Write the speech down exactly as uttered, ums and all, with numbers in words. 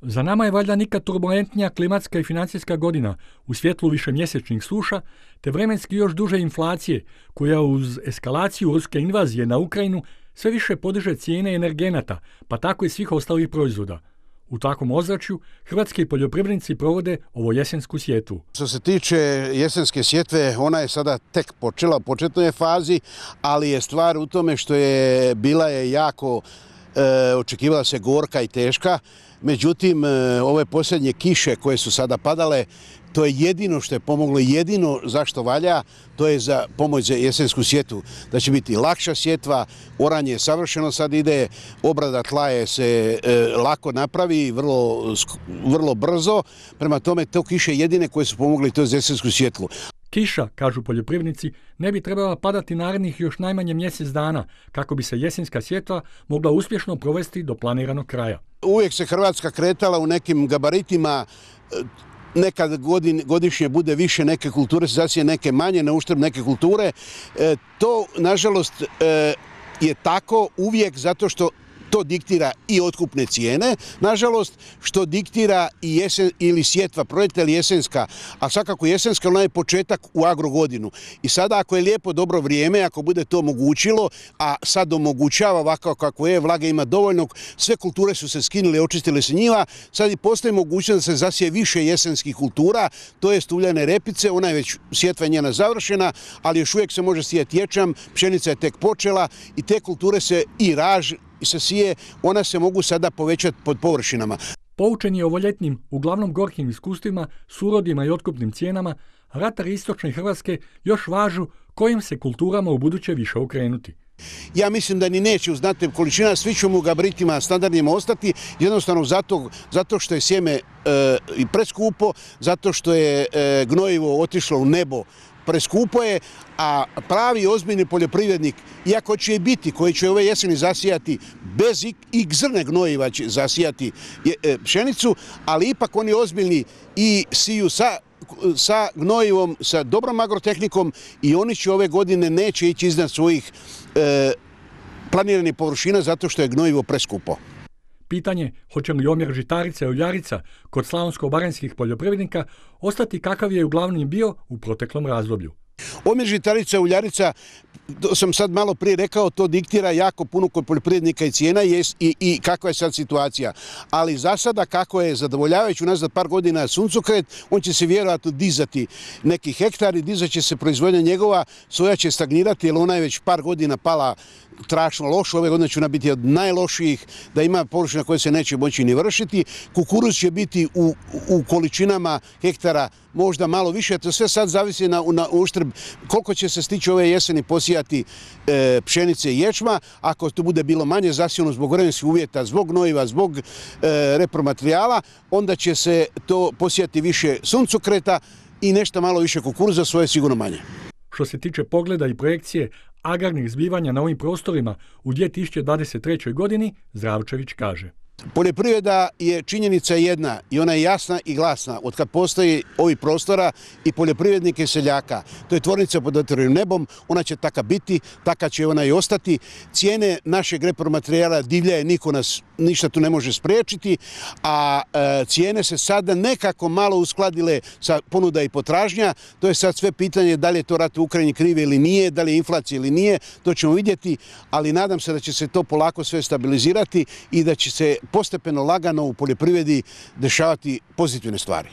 Za nama je valjda nikad turbulentnija klimatska i financijska godina u svjetlu višemjesečnih suša te vremenski još duže inflacije koja uz eskalaciju ruske invazije na Ukrajinu sve više podiže cijene energenata, pa tako i svih ostalih proizvoda. U takvom ozračju hrvatski poljoprivrednici provode ovo jesensku sjetvu. Što se tiče jesenske sjetve, ona je sada tek počela, u početnoj je fazi, ali je stvar u tome što je bila je jako, e, očekivala se gorka i teška. Međutim, e, ove posljednje kiše koje su sada padale, to je jedino što je pomoglo, jedino zašto valja, to je za pomoć za jesensku sjetvu. Da će biti lakša sjetva, oranje je savršeno sad ide, obrada tla je se e, lako napravi, vrlo, vrlo brzo. Prema tome, to kiše jedine koje su pomogli to za jesensku sjetvu. Kiša, kažu poljoprivrednici, ne bi trebala padati narednih još najmanje mjesec dana, kako bi se jesenska sjetva mogla uspješno provesti do planiranog kraja. Uvijek se Hrvatska kretala u nekim gabaritima, nekad godin, godišnje bude više neke kulture, se zasije neke manje, na uštrb neke kulture. E, to, nažalost, e, je tako uvijek zato što to diktira i otkupne cijene, nažalost, što diktira i jesen ili sjetva, proljetna ili jesenska, a svakako jesenska, ona je početak u agrogodinu. I sada ako je lijepo dobro vrijeme, ako bude to omogućilo, a sad omogućava ovako kako je, vlage ima dovoljno, sve kulture su se skinule, očistile se njiva, sad i postoji mogućnost da se zasije više jesenskih kultura, to je uljane repice, ona je već sjetva njena završena, ali još uvijek se može sijeti ječam, pšenica je tek počela i te kulture se i raž se sije, ona se mogu sada povećati pod površinama. Poučeni ovoljetnim, uglavnom gorkim iskustvima, surodima i otkupnim cijenama, ratari istočne Hrvatske još važu kojim se kulturama u buduće više okrenuti. Ja mislim da ni neće u znatnim količina, svi ćemo u gabaritima standardnima ostati, jednostavno zato, zato što je sjeme e, i preskupo, zato što je e, gnojivo otišlo u nebo, preskupo je, a pravi ozbiljni poljoprivrednik, iako će i biti, koji će ove jeseni zasijati bez i zrne gnojiva će zasijati pšenicu, ali ipak oni ozbiljni i siju sa, sa gnojivom, sa dobrom agrotehnikom i oni će ove godine neće ići iznad svojih e, planiranih površina zato što je gnojivo preskupo. Pitanje hoće li omjer žitarica i uljarica kod slavonsko-baranjskih poljoprivrednika ostati kakav je uglavnom bio u proteklom razdoblju. Omjer žitarica i uljarica, to sam sad malo prije rekao, to diktira jako puno kod poljoprivrednika i cijena i, i, i kakva je sad situacija. Ali za sada kako je zadovoljavajući unazad par godina suncokret, on će se vjerojatno dizati neki hektari, dizat će se proizvodnja njegova, soja će stagnirati jer ona je već par godina pala strašno loše, ove godine će ona biti od najlošijih, da ima površina koje se neće moći ni vršiti. Kukuruz će biti u, u količinama hektara možda malo više, to sve sad zavisi na, na uštrb koliko će se stići ove jeseni posijati e, pšenice i ječma. Ako to bude bilo manje zasijano zbog vremenskih uvjeta, zbog gnojiva, zbog e, repromaterijala, onda će se to posijati više suncokreta i nešto malo više kukuruza, svoje sigurno manje. Što se tiče pogleda i projekcije agrarnih zbivanja na ovim prostorima u dvije tisuće dvadeset trećoj godini, Zdravčević kaže. Poljoprivreda je činjenica jedna i ona je jasna i glasna. Od kad postoji ovih prostora i poljoprivrednika i seljaka. To je tvornica pod otvorenim nebom, ona će taka biti, taka će ona i ostati. Cijene našeg repromaterijala divljaje, niko nas ništa tu ne može spriječiti, a e, cijene se sada nekako malo uskladile sa ponuda i potražnja. To je sad sve pitanje da li je to rat u Ukrajini krive ili nije, da li je inflacija ili nije, to ćemo vidjeti, ali nadam se da će se to polako sve stabilizirati i da će se postepeno lagano u poljoprivredi dešavati pozitivne stvari.